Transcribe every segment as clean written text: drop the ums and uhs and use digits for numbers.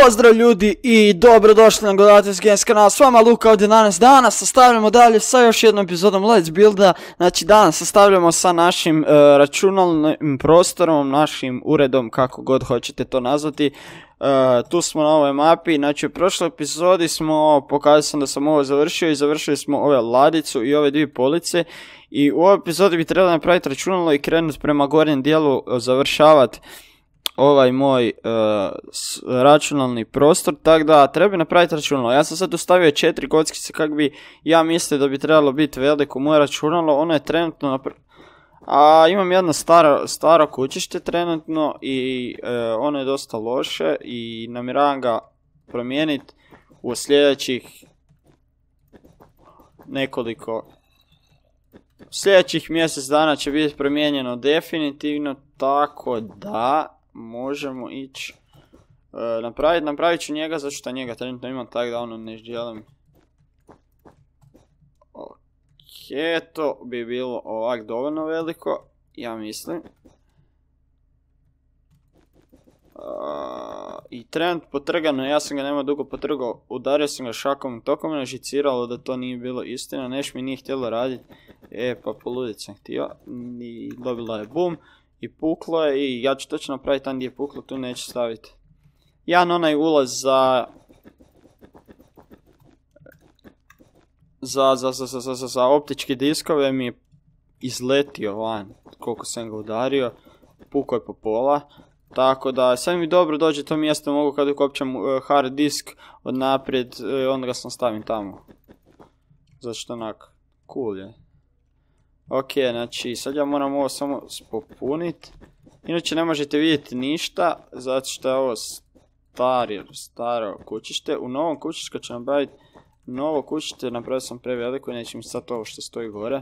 Pozdrav ljudi i dobrodošli na Godatis Games kanal, s vama Luka ovdje danas sastavljamo dalje sa još jednom epizodom Let's Builda. Znači danas sastavljamo sa našim računalnim prostorom, našim uredom, kako god hoćete to nazvati. Tu smo na ovoj mapi, znači u prošloj epizodi pokazao sam da sam ovo završio i završili smo ove ladicu i ove dvije police. I u ovoj epizodi bi trebalo napraviti računalo i krenuti prema gornjem dijelu, završavati ovaj moj računalni prostor, tako da treba napraviti računalo. Ja sam sad ostavio 4 kockice kako bi ja mislio da bi trebalo biti veliko moje računalo. Ono je trenutno imam jedno staro kućište trenutno i ono je dosta loše i namjeravam ga promijeniti u sljedećih sljedećih mjesec dana će biti promijenjeno definitivno, tako da možemo ići napravit ću njega, zato što njega trenutno imam, tako da ono ne želim. Ok, to bi bilo ovak dovoljno veliko, ja mislim. I trenutno potrgano, ja sam ga nema dugo potrgao, udario sam ga šakom i tokom me žiciralo da to nije bilo istina, neš mi nije htjelo raditi, pa poludit sam htio i dobila je bum. I puklo je i ja ću točno napraviti tam gdje je puklo, tu neću staviti. Jedan onaj ulaz za optičke diskove mi je izletio van, koliko sam ga udario, pukao je po pola. Tako da sad mi dobro dođe to mjesto, mogu kad ukopčam hard disk od naprijed, onda ga sam stavim tamo. Zašto onak, cool je. Ok, znači sad ja moram ovo samo popuniti. Inače ne možete vidjeti ništa, zato što je ovo staro kućište. U novom kućištu kad ću napraviti novo kućište, napravio sam preveliko i neće mi sad ovo što stoji gore.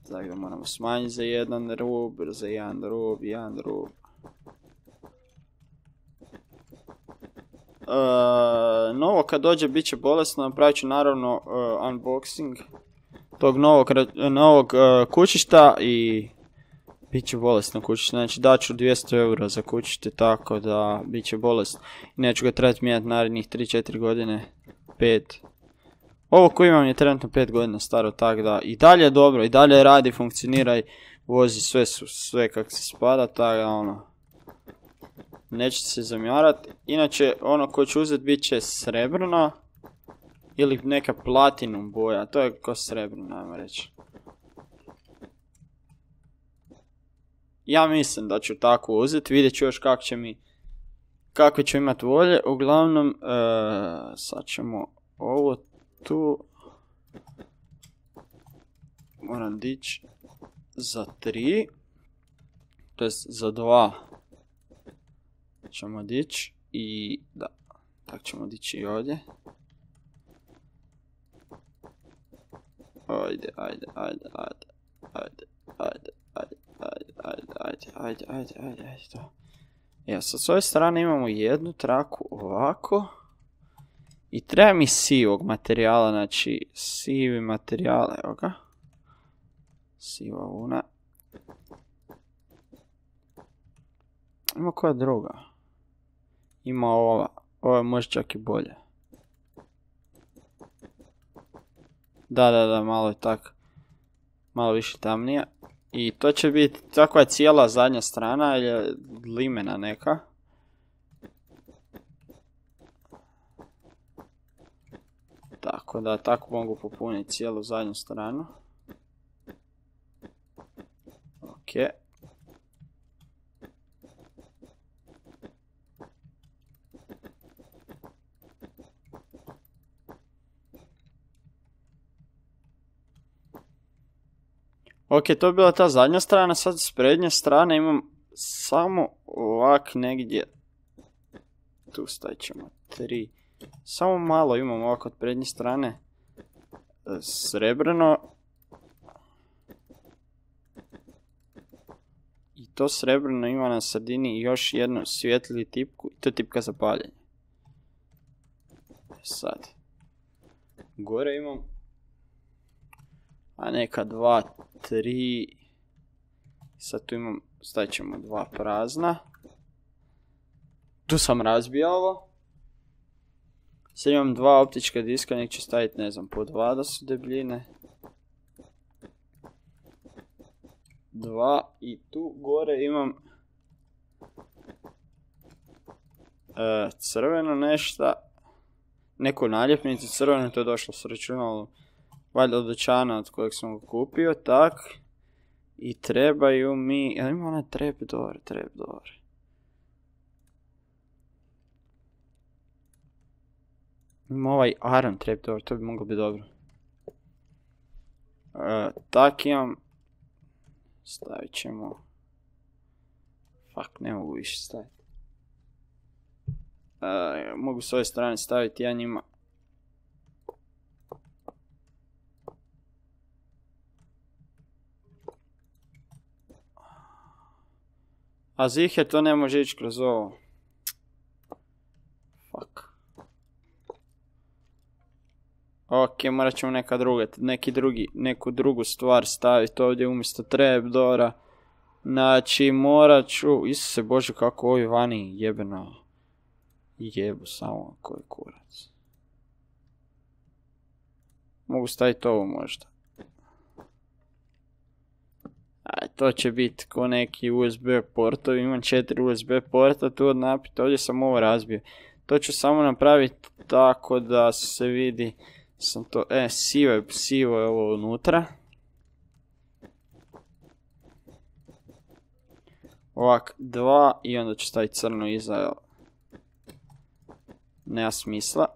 Tako da moramo smanjiti za jedan rub, jedan rub. Novo kad dođe bit će bolesno, napravit ću naravno unboxing tog novog kućišta i bit će bolesno kućište, znači daću 200 eura za kućište, tako da bit će bolesno i neću ga trebati mijenjati narednih 3-4 godine, 5. Ovo koji imam je trenutno 5 godina staro, tako da i dalje je dobro, i dalje radi, funkcionira i vozi sve kako se spada, tako da ono, nećete se zamjarati. Inače ono koje ću uzeti bit će srebrno ili neka platinum boja, to je ko srebrno, ajmo reći. Ja mislim da ću tako uzeti, vidjet ću još kakve ću imati volje. Uglavnom, sad ćemo ovo tu, moram dići za 3, to jest za 2 ćemo dići i da, tako ćemo dići i ovdje. Ajde, to. Evo, sad s ove strane imamo jednu traku ovako. I treba mi sivog materijala, znači sivi materijal, evo ga. Siva vuna. Ima koja druga? Ima ova je možda čak i bolje. Da, malo je tak, malo više tamnija. I to će biti, takva je cijela zadnja strana, ili limena neka. Tako da, tako mogu popuniti cijelu zadnju stranu. Ok. Ok, to je bila ta zadnja strana, sad s prednje strane imam samo ovak negdje, tu stavit ćemo 3, samo malo imam ovak od prednje strane srebrno. I to srebrno ima na sredini još jednu svjetliju tipku, i to je tipka za paljenje. Sad, gore imam neka 2, 3, sad tu imam, stavit ćemo 2 prazna. Tu sam razbio ovo, Sad imam 2 optička diska, nek ću staviti, ne znam, po 2 da su debljine. 2 i tu gore imam crveno nešto, neku naljepnicu crveno, to je došlo s računalom, valjda od dućana od kojeg sam ga kupio, tak. I trebaju mi, jel ima onaj trapdoor. Ima ovaj iron trapdoor, to bi moglo biti dobro. Tak imam, stavit ćemo, fuck, ne mogu više staviti. Mogu s ove strane staviti ja njima. A ziher to ne može ići kroz ovo. Fuck. Ok, morat ćemo neku drugu stvar staviti ovdje umjesto trapdoora. Znači, morat ću, Isuse Bože, kako ovi vani jebeno. Jebu samo, koji kurac. Mogu staviti ovo možda. To će biti ko neki USB portovi, imam 4 USB porta tu od napita, ovdje sam ovo razbio. To ću samo napraviti tako da se vidi, sam to, sivo je ovo unutra. Ovak, 2 i onda ću staviti crno iza, nema smisla.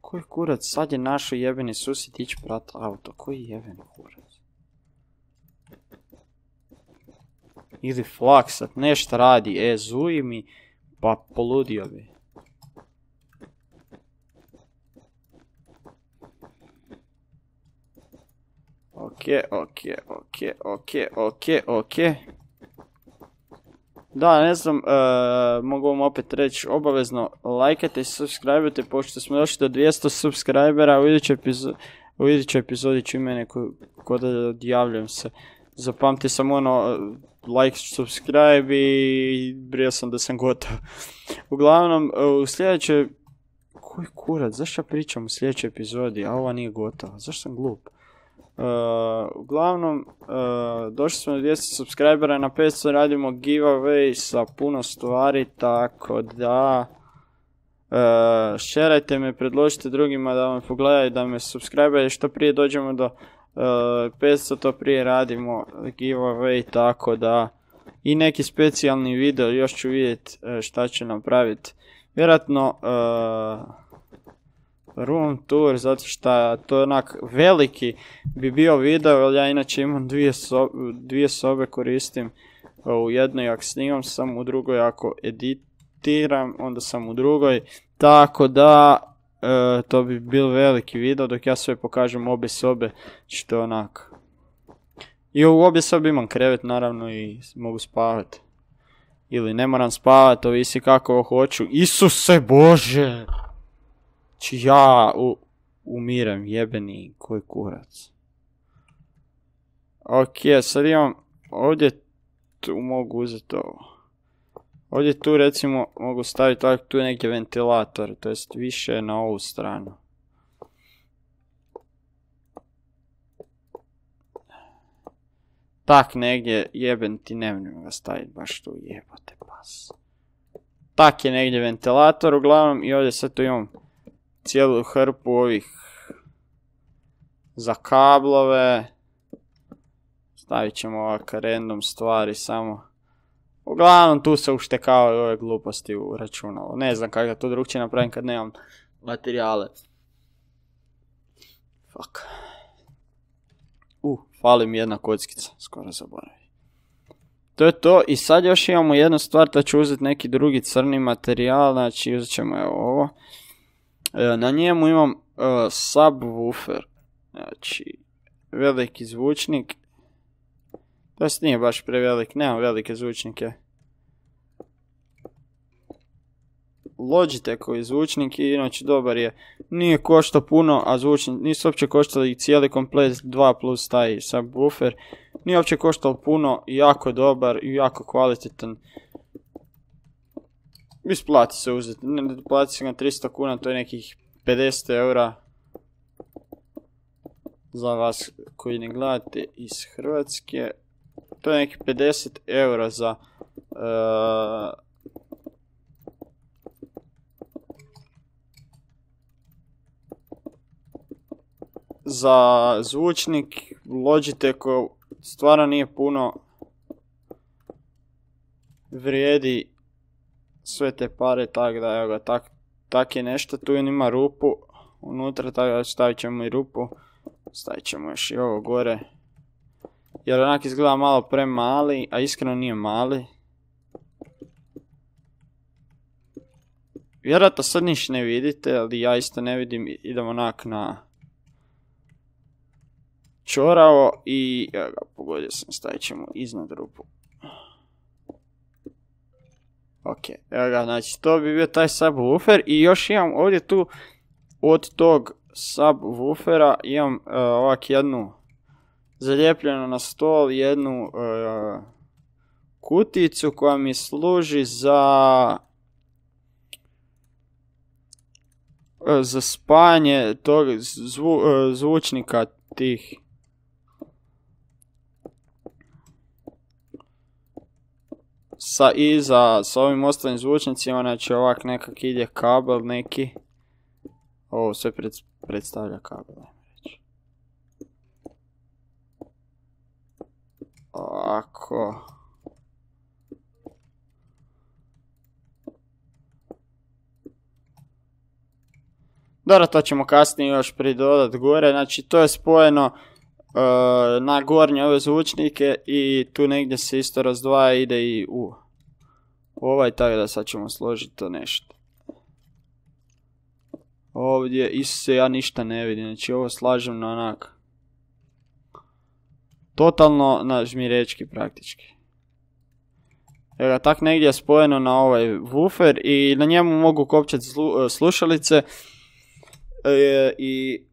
Koji kurac, sad je našo jebeni susjed ići prat auto, koji jebeni kurac. Ili Flaksat, nešto radi, zuji mi, pa poludio bi. Ok. Da, ne znam, mogu vam opet reći, obavezno lajkajte i subscribe-ujte, pošto smo došli do 200 subscribera, u idućoj epizodi ću imati neku, kod da odjavljam se. Zapamti sam ono, like, subscribe i brio sam da sam gotov. Uglavnom, u sljedećoj, koji kurac, zašto ja pričam u sljedećoj epizodi, a ova nije gotova, zašto sam glup? Uglavnom, došli smo do 200 subscribera, na 500 radimo giveaway sa puno stvari, tako da šerajte me, predložite drugima da me pogledaju, da me subscribe, što prije dođemo do 500 to prije radimo giveaway, tako da i neki specijalni video, još ću vidjeti šta ću napraviti. Vjerojatno room tour, zato što to je onak veliki bi bio video, jer ja inače imam dvije sobe koristim, u jednoj ako snimam sam, u drugoj ako editiram, onda sam u drugoj, tako da to bi bil veliki video dok ja sve pokažem obje sobe, što je onak. I u obje sobe imam krevet naravno i mogu spavati. Ili ne moram spavati, ovisi kako hoću. Isuse Bože! Či ja umirem, jebeni koji kurac. Ok, sad imam, ovdje tu mogu uzeti ovo. Ovdje tu recimo mogu staviti ovdje tu neki ventilator, to jest više na ovu stranu. Tak negdje, jeben ti, ne mogu ga staviti baš tu, jebote pas. Tak je negdje ventilator uglavnom i ovdje sad tu imam cijelu hrpu ovih za kablove. Stavit ćemo ovaka random stvari samo. Uglavnom tu se uštekavaju ove gluposti u računalu. Ne znam kako da to drugčije napravim kad nemam materijale. Fuck. Fali mi jedna kockica, skoro zaboravim. To je to i sad još imamo jednu stvar, da ću uzeti neki drugi crni materijal, znači uzet ćemo evo ovo. Na njemu imam subwoofer, znači veliki zvučnik. To nije baš prevelik, nemam velike zvučnike. Logitechov zvučnik i inače dobar je. Nije koštao puno, a zvučnik nisu uopće koštali cijeli komplet 2 plus taj subwoofer. Nije uopće koštalo puno, jako dobar i jako kvalitetan. Isplati se uzeti, plati se ga 300 kuna, to je nekih 50 eura. Za vas koji ne gledate iz Hrvatske, to je nekih 50 eura za zvučnik Logitechov. Stvarno nije puno, vrijedi sve te pare, tako da evo ga, tak je nešto. Tu ima rupu unutra, tako da stavit ćemo i rupu, stavit ćemo još i ovo gore, jer onak izgleda malo premali, a iskreno nije mali. Vjerojatno sad niš ne vidite, ali ja isto ne vidim, idem onak na čoravo i evo ga, pogodio sam, stavit ćemo iznad rupu. Ok, evo ga, znači to bi bio taj subwoofer i još imam ovdje tu od tog subwoofera imam ovak jednu zalijepljenu na stol, jednu kuticu koja mi služi za spajanje tog zvučnika tih. Sa ovim ostalim zvučnicima, znači ovak nekak ide kabel neki. Ovo sve predstavlja kabel, ajmo reći. Ovako. Dobro, to ćemo kasnije još pridodat gore, znači to je spojeno na gornje ove zvučnike i tu negdje se isto razdvaja, ide i u ovaj, tako da sad ćemo složiti to nešto. Ovdje isto ja ništa ne vidim, znači ovo slažem na onak totalno na žmirečki praktički. Evo ga, tak negdje je spojeno na ovaj woofer i na njemu mogu kopčati slušalice i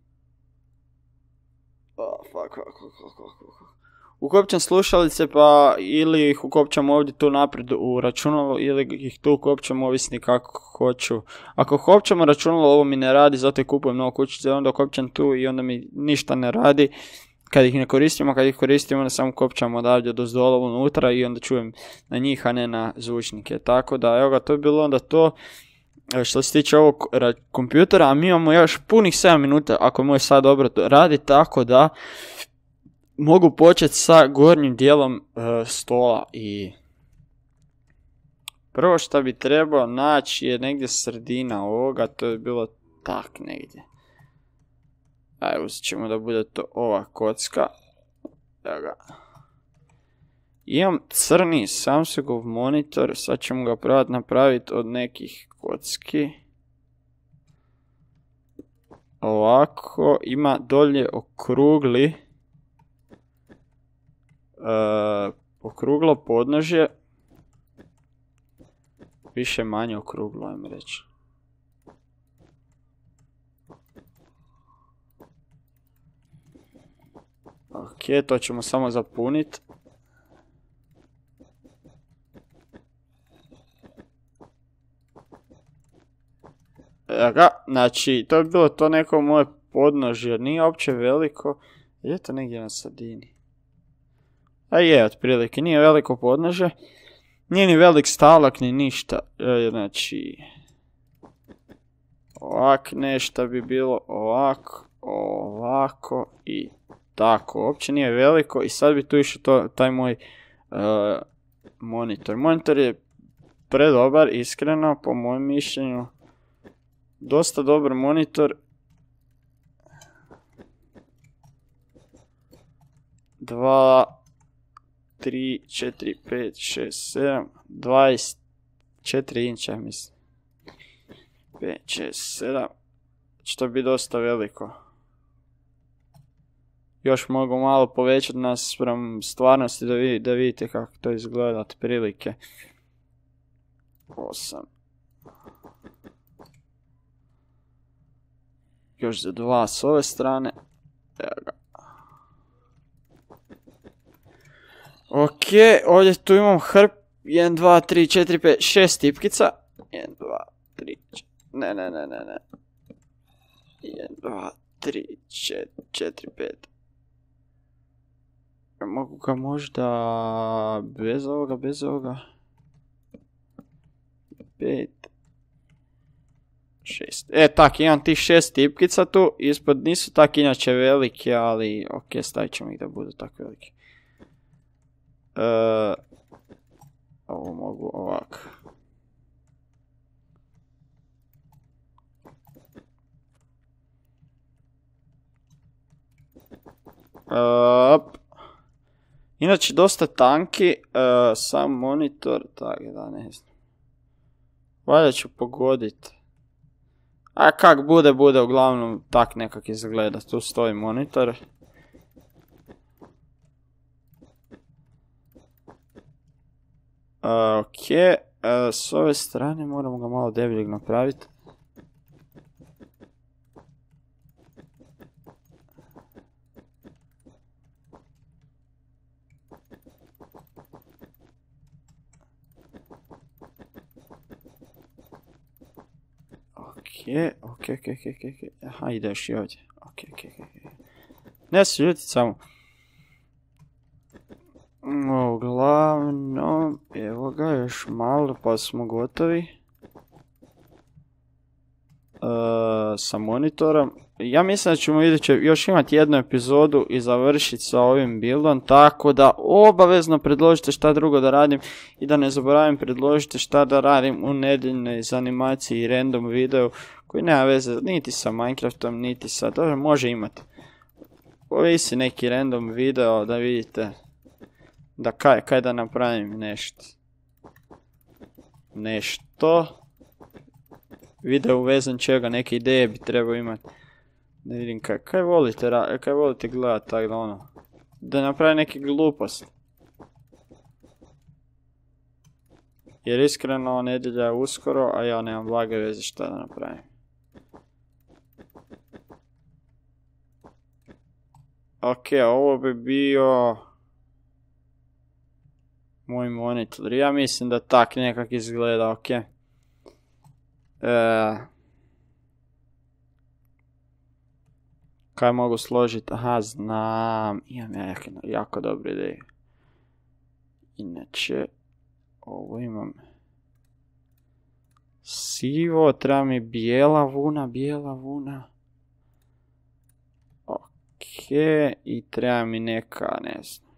ukopčam slušalice, pa ili ih ukopčam ovdje tu naprijed u računalo ili ih tu ukopčam, ovisni kako hoću. Ako ukopčamo računalo, ovo mi ne radi, zato je kupujem novu kućicu, onda ukopčam tu i onda mi ništa ne radi kad ih ne koristimo, a kad ih koristimo onda samo ukopčam odavdje dozdola unutra i onda čujem na njih, a ne na zvučnike. Tako da, evo ga, to je bilo onda to što se tiče ovog kompjutera, a mi imamo još punih 7 minuta ako moj sad dobro radi, tako da mogu početi sa gornjim dijelom stola. I prvo što bi trebao naći je negdje sredina ovoga, to je bilo tak negdje. Ajde, uzet ćemo da bude to ova kocka. Evo ga. Imam crni Samsungov monitor, sad ćemo ga probati napraviti od nekih kocki. Ovako, ima dolje okruglo podnožje. Više manje okruglo, ajmo reći. Ok, to ćemo samo zapuniti. Znači, to bi bilo to neko moje podnožje, nije uopće veliko, je to negdje na sredini. A je, otprilike, nije veliko podnožje, nije ni velik stalak, ni ništa, znači, ovak nešto bi bilo, ovako i tako, uopće nije veliko i sad bi tu išao taj moj monitor. Monitor je predobar, iskreno, po mojem mišljenju. Dosta dobar monitor. 2, 3, 4, 5, 6, 7, 24 inča, mislim. 5, 6, 7. Što bi dosta veliko. Još mogu malo povećati naspram stvarnosti da vidite kako to izgleda otprilike. 8. Još za 2 s ove strane. Evo ga. Ok, ovdje tu imam 1, 2, 3, 4, 5, 6 tipkica. 1, 2, 3, 4, ne. 1, 2, 3, 4, 5. Mogu ga možda bez ovoga. 5, 6. Tak, imam tih 6 tipkica tu. Ispod nisu tak inače velike, ali ok, stavit ćemo ih da budu tak velike. Ovo mogu ovako. Inače dosta tanki, sam monitor, tako da ne znam. Valjda ću pogodit. A kak bude, uglavnom tak nekak izgleda, tu stoji monitor. Ok, s ove strane moramo ga malo debljeg napraviti. Ok. Aha, ide još i ovdje. Ok. Ne se ljutit samo. Uglavnom, evo ga, još malo pa smo gotovi. Sa monitorom. Ja mislim da ćemo još imati jednu epizodu i završiti sa ovim buildom, tako da obavezno predložite šta drugo da radim i da ne zaboravim predložite šta da radim u nedjeljnoj animaciji i random videu koji nema veze niti sa Minecraftom, niti sa... Dobro, može imati. Ovisi neki random video da vidite da kaj da napravim nešto. Video uvezan čega, neke ideje bi trebao imati. Da vidim kaj volite gledati, tako da ono. Da napravim neke gluposti. Jer iskreno nedjelja je uskoro, a ja nemam blage veze šta da napravim. Ok, ovo bi bio moj monitor. Ja mislim da tak nekak izgleda, ok. Kaj mogu složiti? Aha, znam. Imam jako dobre ideje. Inače, ovo imam sivo, treba mi bijela vuna. Ok, i treba mi neka, ne znam.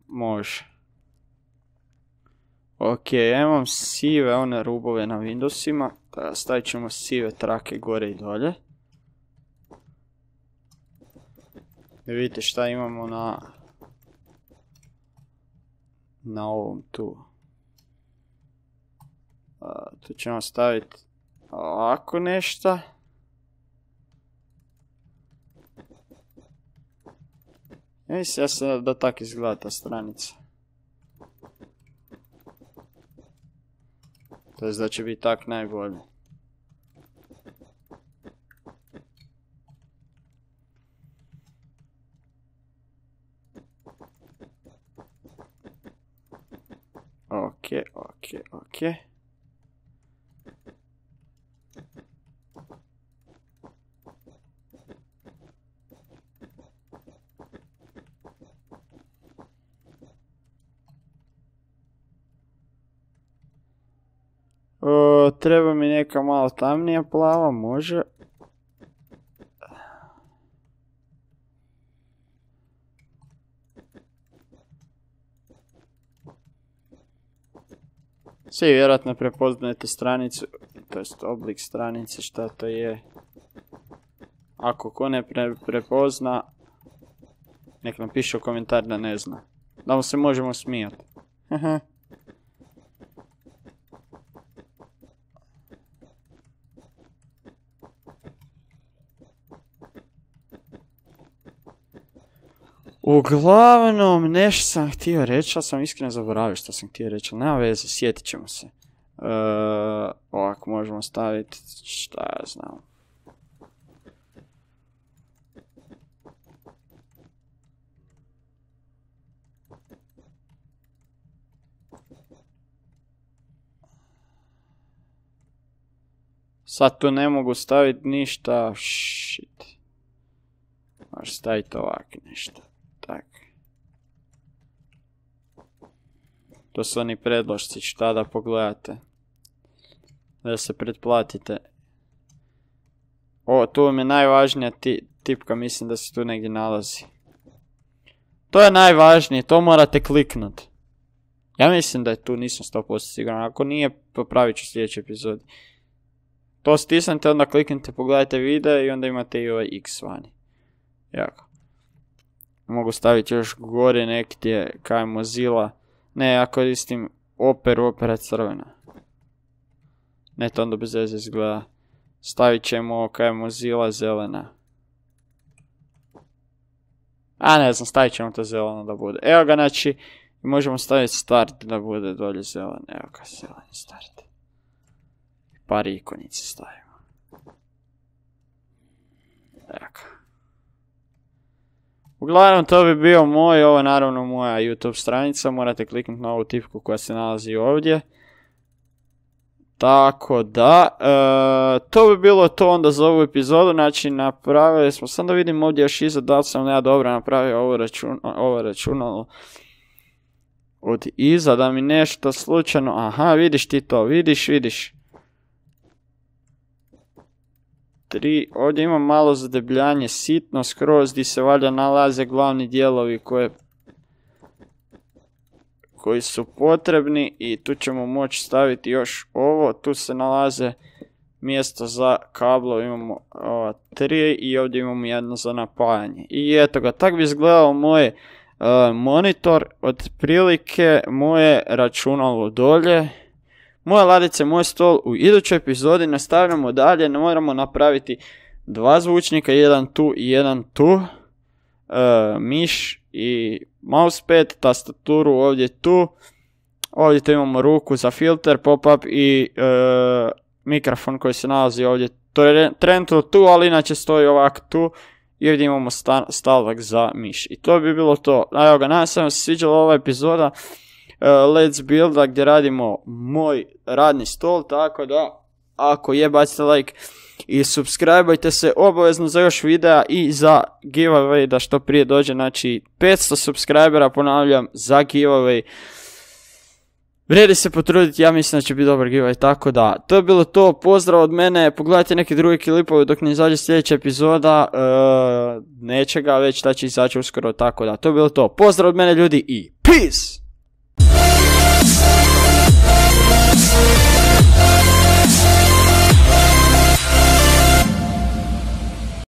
Može. Ok, ja imam sive one rubove na Windowsima. Stavit ćemo sive trake gore i dolje. Da vidite šta imamo na ovom tu. Tu ćemo staviti ovako nešto. Mislim ja se da tak izgleda ta stranica. To je da će biti tak najbolje. Ok. Treba mi neka malo tamnija plava, može. Svi vjerojatno prepoznajete stranicu, to jest oblik stranice, šta to je. Ako ko ne prepozna, nek nam piše u komentar da ne zna. Da mu se možemo smijati. Uglavnom, nešto sam htio reći, ali sam iskreno zaboravio što sam htio reći, ali nema veze, sjetit ćemo se. Ovako možemo staviti, šta ja znam. Sad tu ne mogu staviti ništa, shit. Možeš staviti ovako nešto, tak. To su oni predlošci, šta da pogledate. Da se pretplatite. O, tu vam je najvažnija tipka, mislim da se tu negdje nalazi. To je najvažnije, to morate kliknut. Ja mislim da je tu, nisam 100% siguran, ako nije, popravit ću sljedeći epizod. To stisnete, onda kliknite, pogledajte video i onda imate i ovaj X vani. Jako. Mogu staviti još gore nekdje kaj Mozilla. Ne, ja koristim opera crvena. Ne, to onda bez veze izgleda. Stavit ćemo kaj Mozilla zelena. A ne znam, stavit ćemo to zeleno da bude. Evo ga, znači, možemo staviti start da bude dolje zelen. Evo ga, zeleni start. Par ikonice stavimo. Evo ga. Uglavnom, to bi bio moj, ovo je naravno moja YouTube stranica, morate kliknuti na ovu tipku koja se nalazi ovdje. Tako da, to bi bilo to onda za ovu epizodu, znači napravili smo, sam da vidim ovdje još iza da li sam ja dobro napravio ovo računalo od iza, da mi nešto slučajno, aha, vidiš ti to, vidiš. 3, ovdje imam malo zadebljanje, sitno skroz, gdje se valjda nalaze glavni dijelovi koji su potrebni i tu ćemo moći staviti još ovo, tu se nalaze mjesto za kablo, imamo 3 i ovdje imamo jedno za napajanje. I eto ga, tak bi izgledao moj monitor, otprilike moje računalo dolje. Moje ladice, moj stol. U idućoj epizodi nastavljamo dalje, ne moramo napraviti 2 zvučnika, jedan tu i jedan tu. Miš i mousepad, tastaturu ovdje tu. Ovdje tu imamo ruku za filter, pop-up i mikrofon koji se nalazi ovdje. To je trenutno tu, ali inače stoji ovako tu. I ovdje imamo stavak za miš. I to bi bilo to. Evo ga, nadam se vam se sviđala ova epizoda Let's Builda gdje radimo moj radni stol, tako da ako je, bacite like i subscribeajte se obavezno za još videa i za giveaway da što prije dođe, znači 500 subscribera, ponavljam, za giveaway. Vrijedi se potruditi, ja mislim da će biti dobar giveaway, tako da, to je bilo to, pozdrav od mene, pogledajte neke druge klipove dok ne izađe sljedeća epizoda, nečega već da će izaći uskoro, tako da, to je bilo to, pozdrav od mene ljudi i peace!